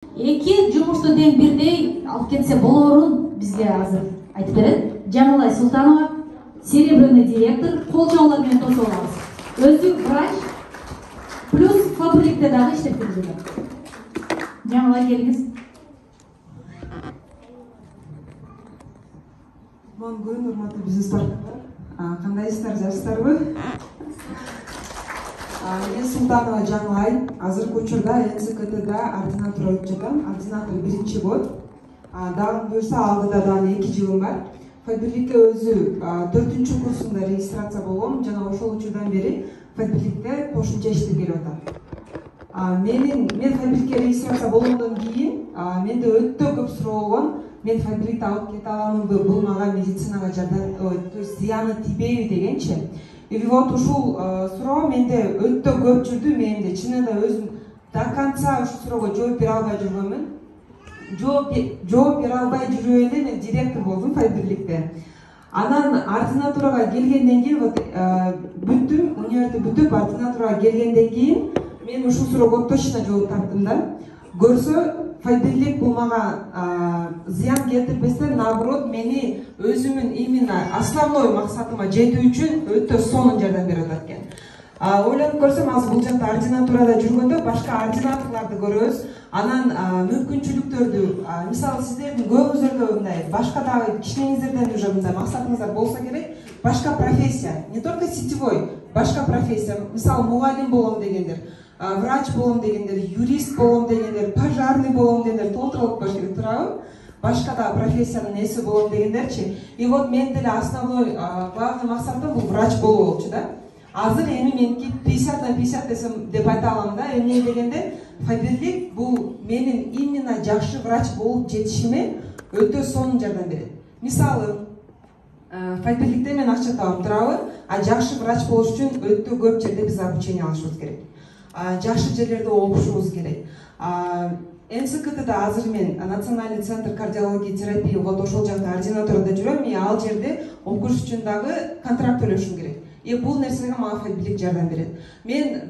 Эки жумушту тең бирдей алып кетсе болоорун бизге азыр айтып берет Жамалай Султанова, серебряный директор. Кол чоңлор менен тосуп алабыз. Өзү врач плюс фабрикте дагы иштеп жүргөн. Жамалай, келиңиз. Кутман күн, урматтуу бизнес партнерлер. Кандайсыздар, жакшысыздарбы? Мен Султанова Жамалай. Азыркы учурда НСКТда ординатура өтүп жатам. Ординатор 1-чи год. Дагы буюрса алдыда дагы 2 жылым бар. Фабрикке өзү 4-чү курсунда регистрация болгом жана ошол учурдан бери фабрикте кошумча иштеп келип атам. Мен фабрикке регистрация болгондон кийин менде өтө көп суроо болгон. Мен фабрикте алып кете аламынбы, бул мага медицинага жардам, то есть зыяны тийбейби дегенчи. И вот ушул суроо менде өтө көп жүрдү менде. Чынында өзүм до конца ушул суроого жооп бере албай жүргөнмүн. Жооп бере албай жүрүп эле мен директор болдум фабрикте. Анан ординатурага келгенден кийин вот бүттүм, университет бүтүп ординатурага келгенден кийин мен ушул суроого точно жооп таптым да. Көрсө фабрик бул мага зыян келтирбестен, наоборот, мени өзүмүн именно основной максатыма жетүү үчүн өтө сонун жардам берип атат экен. Ойлонуп көрсөм, азыр бул жакта ординатурада жүргөндө башка ординаторлорду көрөбүз. Анан мүмкүнчүлүктөрдү, мисалы сиздердин көбүңүздөрдө мындай башка дагы кичинеңиздерден уже мындай максатыңыздар болсо керек, башка профессия, не только сетевой, башка профессия, мисалы мугалим болом дегендер, врач болом дегендер, юрист болом дегендер, пожарный болом дегендер толтуруп коюш керек, туурабы? Башка да профессиянын эси болом дегендерчи. И вот мен деле основной главный максатым бул врач болуу болчу да. Азыр эми меники 50/50 десем деп айта алам да. Эмне дегенде, фабрик бул менин именно жакшы врач болуп жетишиме өтө сонун жардам берет. Мисалы, фабрикте мен акча табам, туурабы? А жакшы врач болуш үчүн өтө көп жерде биз обучение алышыбыз керек. Жакшы жерлерде окушубуз керек. НСКТда азыр мен Национальный центр кардиологии терапии, вот ошол жакта ординатурада жүрөм. И ал жерде окуш үчүн дагы контракт төлөшүм керек. И бул нерсеге мага фабрик жардам берет. Мен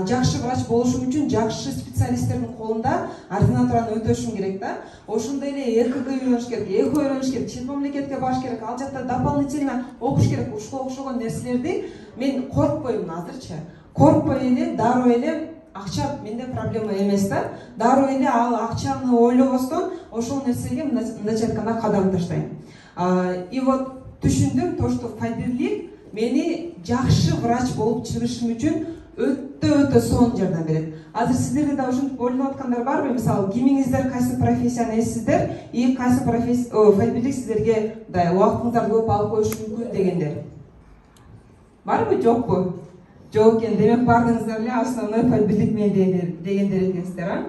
жакшы врач болушум үчүн жакшы специалисттердин колунда ординатураны өтөшүм керек да. Ошондой эле ЭКГ үйрөнүш керек, эхо үйрөнүш керек, чет мамлекетке барыш керек, ал жакта дополнительно окуш керек. Ушуга окшогон нерселерди мен коркпоймун азырчы. Коркпой эле, дароо эле акча менде проблема эмес да. Дароо эле ал акчаны ойлобостон ошол нерсеге мындайча айтканда кадам таштайм. И вот түшүндүм то, что фабрик мени жакшы врач болуп чыгышым үчүн өтө сонун жардам берет. Азыр сиздерде да ушинтип ойлонуп аткандар барбы? Мисалы, кимиңиздер кайсы профессияны эсиздер и кайсы фабрик сиздерге убактыңыздарды көп алып коюшу мүмкүн дегендер. Барбы, жокпу? Жок экен, демек бардыңыздар эле основной фабрик мен дегендер экенсиздер, а?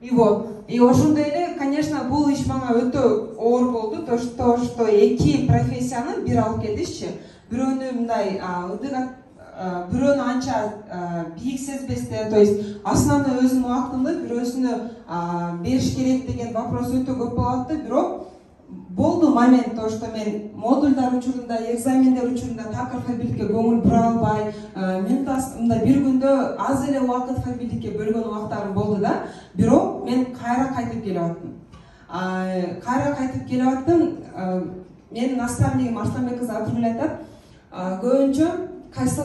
И вот, и ошондой эле, конечно, бул иш мага өтө оор болду, то что эки профессияны бир алып кетишчи. Бирөөнү мындай бирөөнү анча бийик сезбестен, то есть основной өзүнүн убактымды бирөөсүнө бериш керек деген вопрос өтө көп болот да. Бирок болду момент то, что мен модульдар учурунда, экзамендер учурунда такыр фабрикке көңүл бура албай, мындай бир күндө аз эле убакыт фабрикке бөлгөн убактарым болду да. Бирок мен кайра кайтып келип аттым. Менин наставнигим Арсланбек кызы Абдулгул айтат, көбүнчө кайсы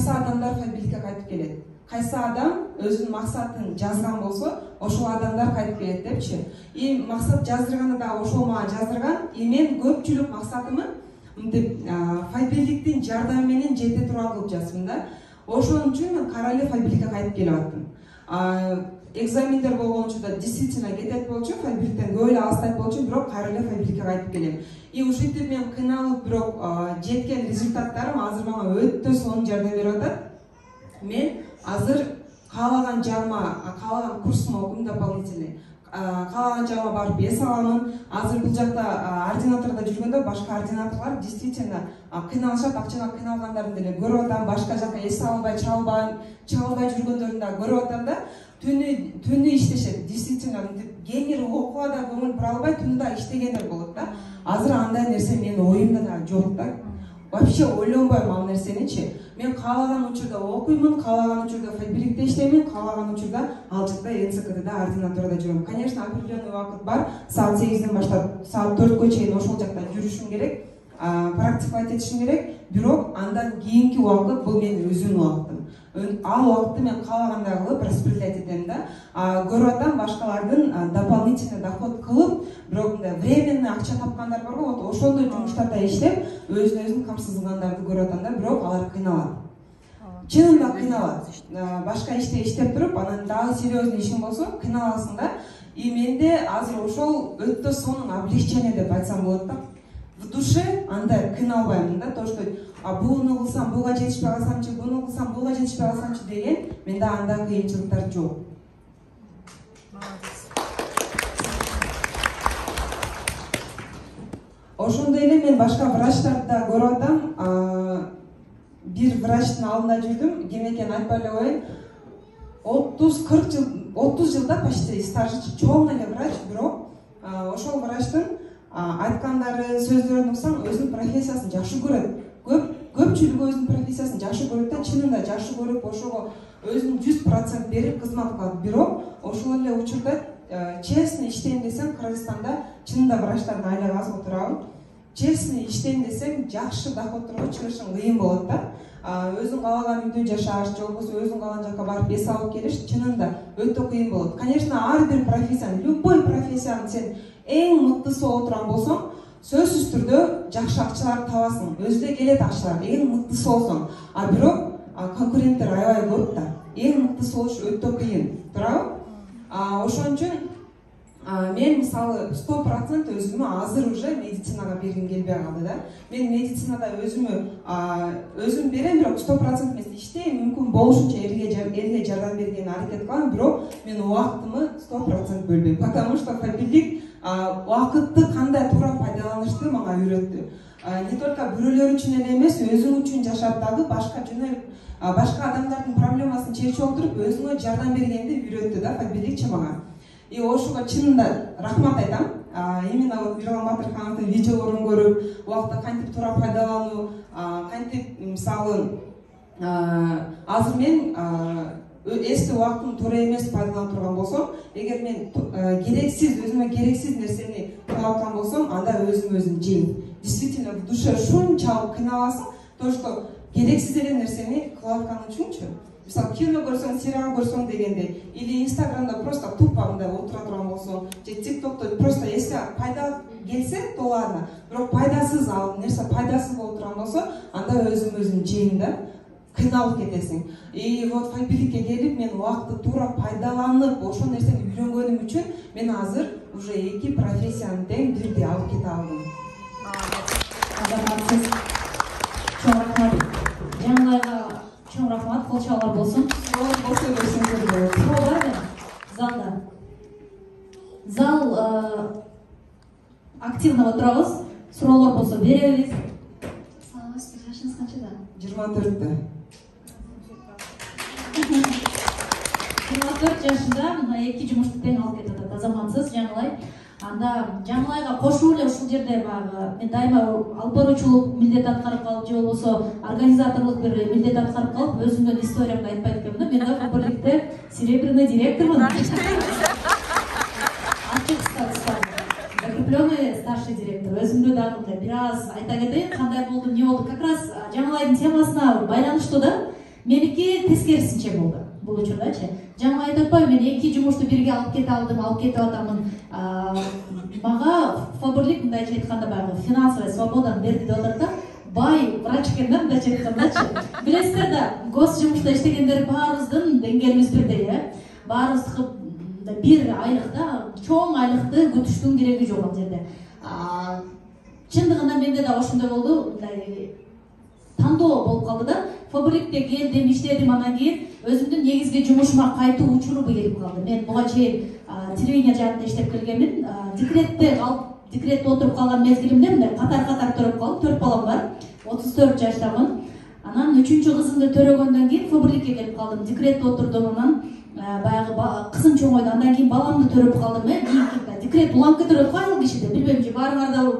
адамдар фабрикке кайтып келет. Кайсы адам өзүнүн максатын жазган болсо, ошол адамдар кайтып келет депчи. И максат жаздырганда да ошол мага жаздырган. И мен көпчүлүк максатымы мынтип фабриктин жардамы менен жете турган кылып жаздым да. Ошон үчүн мен кайра эле фабрикке кайтып келип аттым. Экзамендер болгон учурда действительно кетет болчу, фабриктен көп эле алыстайт болчу, бирок кайра эле фабрикке кайтып келем. И ушинтип мен кыйналып, бирок жеткен результаттарым азыр мага өтө сонун жардам берип атат. Мен азыр каалаган жагыма, каалаган курсума окуйм дополнительный. Каалаган жагыма барып эс аламын. Азыр бул жакта ординаторда жүргөндө башка ординаторлор действительно кыйналышат, акчага кыйналгандарын деле көрүп атам. Башка жака эс албай, чалбай жүргөндөрүн да көрүп атам да. Түнү иштешет. Действительно, генер окууга да көңүл бура албай, түнү да иштегендер болот да. Азыр андай нерсе менин оюмда да жок да. вообще ойлонбойм ал нерсеничи. Мен каалаган учурда окуймун, каалаган учурда фабрикте иштеймин, каалаган учурда ал жакта НЦКДда ординатурада жүрөм. Конечно, определенный убакыт бар. Саат 8ден баштап саат 4кө чейин ошол жакта жүрүшүм керек, практиковать этишим керек. Бирок андан кийинки убакыт бул менин өзүмдүн убактым. Ал убакытты мен каалагандай кылып распределять этем да. Көрүп атам башкалардын дополнительный доход кылып, бирок мындай временный акча тапкандар бар го, вот ошондой жумуштарда иштеп, өзүн камсыздагандарды көрүп атам да, бирок алар кыйналат. Чынында кыйналат. Башка иште иштеп туруп, анан дагы серьезный ишиң болсо кыйналасың да. И менде азыр ошол өтө сонун облегчение деп айтсам болот да. В душе андай кыйналбаймын да, то что буну кылсам буга жетишпей калсамчы, буну кылсам буга жетишпей калсамчы деген менде андай кыйынчылыктар жок. Ошондой эле мен башка врачтарды да көрүп атам. Бир врачтын алдында жүрдүм, ким экенин айтпай эле коеюн. 30-40 жыл, 30 жылда почти стажы чоң эле врач, бирок ошол врачтын айткандары, сөздөрүн угсаң, өзүнүн профессиясын жакшы көрөт. Көпчүлүгү өзүнүн профессиясын жакшы көрөт да, чынында жакшы көрүп, ошого өзүнүн 100% берип кызмат кылат. Бирок ошол эле учурда честный иштейм десем, Кыргызстанда чынында врачтардын айлыгы аз отурабы. Честный иштейм десең, жакшы доходторго чыгышың кыйын болот да. Өзүң каалаган үйдө жашаш, же болбосо өзүң каалаган жака барып эс алып келиш чынында өтө кыйын болот. Конечно, ар бир профессиянын, любой профессиянын сен эң мыктысы отурган болсоң, сөзсүз түрдө жакшы акчаларды табасың. Өзүдө келет акчалар, эң мыктысы болсоң. Бирок конкуренттер аябай көп да. Эң мыктысы болуш өтө кыйын, туурабы? Ошон үчүн мен мисалы 100% өзүмө азыр уже медицинага бергим келбей калды да. Мен медицинада өзүм берем, бирок 100% эмес иштейм, мүмкүн болушунча элге жардам бергенге аракет кылам, бирок мен убактымы 100% бөлбөйм. Потому что фабрик убакытты кандай туура пайдаланышты мага үйрөттү. Не только бирөөлөр үчүн эле эмес, өзүң үчүн жашап дагы башка адамдардын проблемасын чечип отуруп өзүңө жардам бергенди үйрөттү да фабрикчи мага. И ошого чынында рахмат айтам. Именно вот Мирлан Батырхановдун видеолорун көрүп, убакытты кантип туура пайдалануу, кантип мисалы азыр мен эски убактын туура эмес пайдалана турган болсом, эгер мен өзүмө керексиз нерсени кылып аткан болсом, анда өзүм жейм. Действительно в душе шунчалык кыйналасың, то что керексиз эле нерсени кылып аткан үчүнчү. Мисалы, кино көрсөң, сериал көрсөң дегенде, или Инстаграмда просто тупо мындай отура турган болсоң, же ТикТокто просто если пайда келсе толарына, бирок пайдасыз ал нерсе пайдасыз болуп турган болсо, анда өзүм жейм да, кыйналып кетесиң. И вот фабрикке келип мен убакытты туура пайдаланып, ошол нерсени үйрөнгөнүм үчүн мен азыр уже 2 профессияны тең бирдей алып кете алдым. Азаматсыз чоң рахмат. Жаңылайга чоң рахмат, кол чабуулар болсун. Болсо берсеңиздер болот. Суроо барбы залда? Зал активно отурабыз. Суроолор болсо беребиз. Саламатсызбы, жашыңыз канчада? 24-тө. 24 жашында мына 2 жумушту тең алып кетип атат. Азаматсыз Жаңылай. Анда Жаңылайга кошулуп эле ушул жерде баягы мен дайыма алып баруучулук милдет аткарып калып, же болбосо организаторлук бир милдет аткарып калып, өзүмдүн историямды айтпайт экенмин да. Мен да фабрикте серебряный директормун. Ачык статус, закрепленный старший директор. Өзүмдү дагы мындай бир аз айта кетейин, кандай болду, эмне болду. Как раз Жаңылайдын темасына байланыштуу да. Меники тескерисинче болду бул учурдачы. Жаңы айтып атпайбы, мен 2 жумушту бирге алып кете алдым, алып кетип атамын. Мага фабрик мындайча айтканда баягы финансовый свободаны берди деп атат да. Бай врач экен да, мындайча айткандачы. Билесиздер да, гос жумушта иштегендер баарыбыздын деңгээлибиз бирдей, баарыбыздыкы бир айлыкта, чоң айлыкты күтүштүн кереги жок ал жерде. Чындыгында менде да ошондой болду, мындай тандоо болуп калды да. Фабрикте келдим, иштедим, анан кийин өзүмдүн негизги жумушума кайтуу учуру келип калды. Мен буга чейин телевидение жагында иштеп келгенмин. Декретте отуруп калган мезгилимде мындай катар төрөп калдым. 4 балам бар. 34 жаштамын. Анан 3-чү кызымды төрөгөндөн кийин фабрикке келип калдым. Декретте отурдум, анан баягы кызым чоңойду. Андан кийин баламды төрөп калдым. Декрет уланып кетет го айыл кишиде. Билбейм, же баарыңар да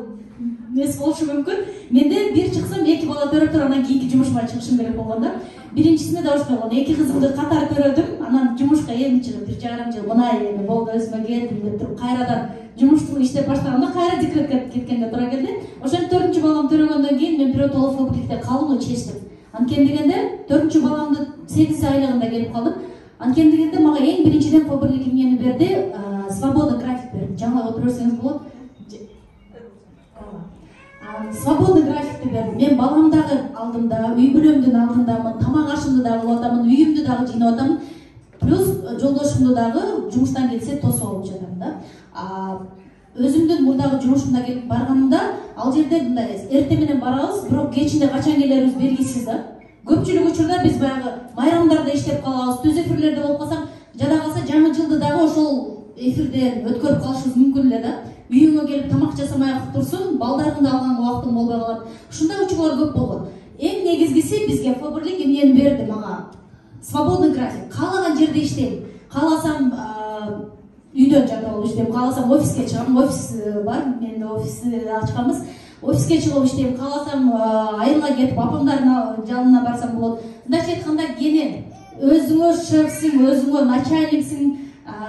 эмес болушу мүмкүн. Менде бир чыксам эки бала төрөп туруп анан кийинки жумушума чыгышым керек болгон да. Биринчисинде да ошондой болгон. Эки кызымды катар төрөдүм. Анан жумушка эми чыгып 1,5 жыл мына эми болду өзүмө келдим деп туруп кайрадан жумушту иштеп баштаганда кайра декретке кеткенге туура келди. Ошентип 4-чү баламды төрөгөндөн кийин мен биротоло фабрикте калууну чечтим. Анткени дегенде 4-чү баламды 8 айлыгында келип калдым. Анткени дегенде мага эң биринчиден фабрик эмнени берди? Свободный график берди. Жаңылап отура берсеңиз болот. Свободный графикти берди. Мен баламдагы алдымда, үй бүлөмдүн алдындамын, тамак ашымды дагы кылып атамын, үйүмдү дагы жыйнап атамын. Плюс жолдошумду дагы жумуштан келсе тосуп алып жатам да. Өзүмдүн мурдагы жумушумда келип барганымда, ал жерде мындай эртең менен барабыз, бирок кечинде качан келерибиз белгисиз да. Көпчүлүк учурда биз баягы майрамдарда иштеп калабыз, түз эфирлерде болуп калсак, жада калса жаңы жылды дагы ошол эфирден өткөрүп калышыбыз мүмкүн эле да. Үйүңө келип тамак жасамай турсун, балдарыңды алганга убактың болбой калат. Ушундай учурлар көп болгон. Эң негизгиси бизге фабрик эмнени берди мага? Свободный график. Каалаган жерде иштейм. Кааласам үйдөн жатып алып иштейм, кааласам офиске чыгам, офис бар, менде офисти ачканбыз. Офиске чыгып иштейм, кааласам айылга кетип апамдардын жанына барсам болот. Мындайча айтканда кенен өзүңө шефсиң, өзүңө начальниксиң,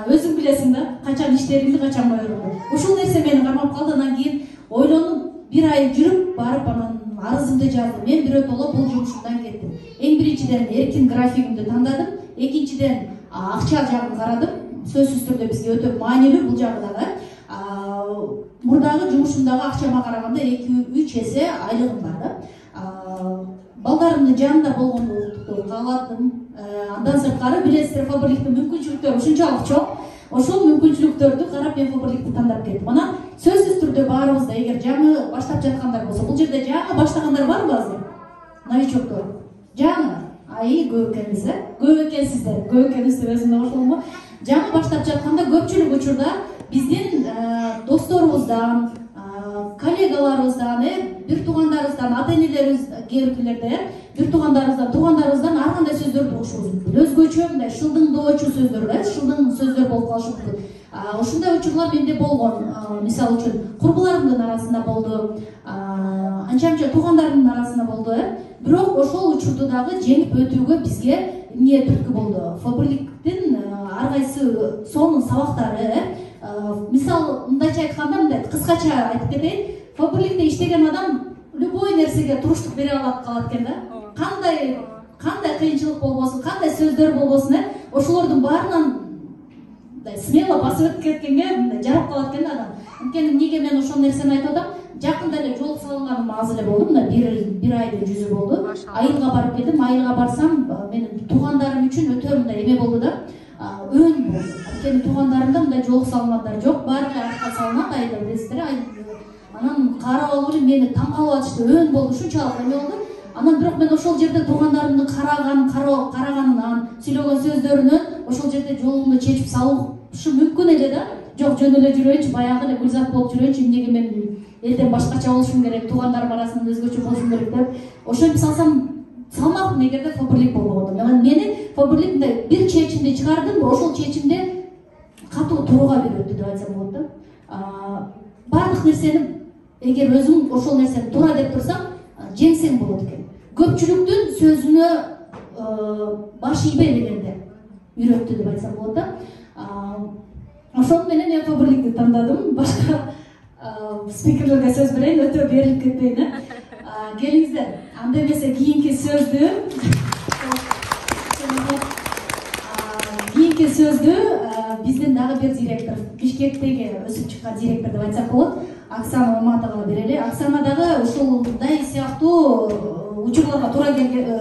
өзүң билесиң да, качан иштериңди, качан койгоңду. Ушул нерсе мени кармап калды. Андан кийин ойлонуп, бир ай жүрүп барып анан арызымды жаздым. Мен биротоло бул жумушумдан кеттим. Эң биринчиден эркин графигимди тандадым, экинчиден акча жагын карадым. Сөзсүз түрдө бизге өтө маанилүү бул жагы дагы. Мурдагы жумушумдагы акчама караганда 2-3 эсе айлыгым бар да. Балдарымдын жанында болгонду кааладым. Андан сырткары билесиздер, фабриктин мүмкүнчүлүктөрү ушунчалык чоң. Ошол мүмкүнчүлүктөрдү карап мен фабрикти тандап кеттим. Анан сөзсүз түрдө баарыбызда эгер жаңы баштап жаткандар болсо, бул жерде жаңы баштагандар барбы азыр? Новичоктор. Жаңы. Көп экенбиз, көп экенсиздер. Көп экенбиз деп өзүмө кошулумбу? Жаңы баштап жатканда көпчүлүк учурда биздин досторубуздан, коллегаларыбыздан, бир туугандарыбыздан, ата-энелерибиз кээбиркилерде, бир туугандарыбыздан ар кандай сөздөрдү угушубуз. Өзгөчө мындай шылдыңдоочу сөздөр да, шылдың сөздөр болуп калышы мүмкүн. Ушундай учурлар менде болгон. Мисалы үчүн курбуларымдын арасында болду, анча-мынча туугандарымдын арасында болду. Бирок ошол учурду дагы жеңип өтүүгө бизге эмне түрткү болду? Фабриктин ар кайсы сонун сабактары. Мисалы мындайча айтканда, мындай кыскача айтып кетейин. Фабрикте иштеген адам любой нерсеге туруштук бере алат калат экен да. Кандай кыйынчылык болбосун, кандай сөздөр болбосун, ошолордун баарынан смело басып өтүп кеткенге жарап калат экен адам. Анткени эмнеге мен ошол нерсени айтып атам? Жакында эле жол салынганым аз эле болду, мына бир айдын жүзү болду. Айылга барып келдим. Айылга барсам, менин туугандарым үчүн өтө мындай эме болду да. Өн болду. Анткени туугандарымда мындай жол салгандар жок, баары артка салынат айылда, билесиздер. Анан карап алып эле мени таң калып атышты, өн болду, ушунчалык эме болду. Анан бирок мен ошол жерде туугандарымдын караганынан, сүйлөгөн сөздөрүнөн ошол жерде жолумду чечип салышы мүмкүн эле да. Жок, жөн эле жүрөйүнчү, баягы эле гүлзат болуп жүрөйүнчү, эмнеге мен элден башкача болушум керек, туугандарым арасында өзгөчө болушум керек деп. Ошентип салсам салмактын эгерде фабрик болбогондо. Мени фабрик мындай бир чечимди чыгардым, ошол чечимде катуу турууга үйрөттү деп айтсам болот да. Баардык нерсени эгер өзүң ошол нерсени туура деп турсаң, жеңсең болот экен. Көпчүлүктүн сөзүнө баш ийбей дегенде үйрөттү деп айтсам болот да. Ошол менен мен фабрикти тандадым. Башка спикерлерге сөз берейин, өтө берилип кетпейин. Келиңиздер. Анда эмесе кийинки сөздү биздин дагы бир директор, Бишкектеги өсүп чыккан директор деп айтсак болот, Оксана Маматовага берели. Оксана дагы ушундай сыяктуу учурларга туура келген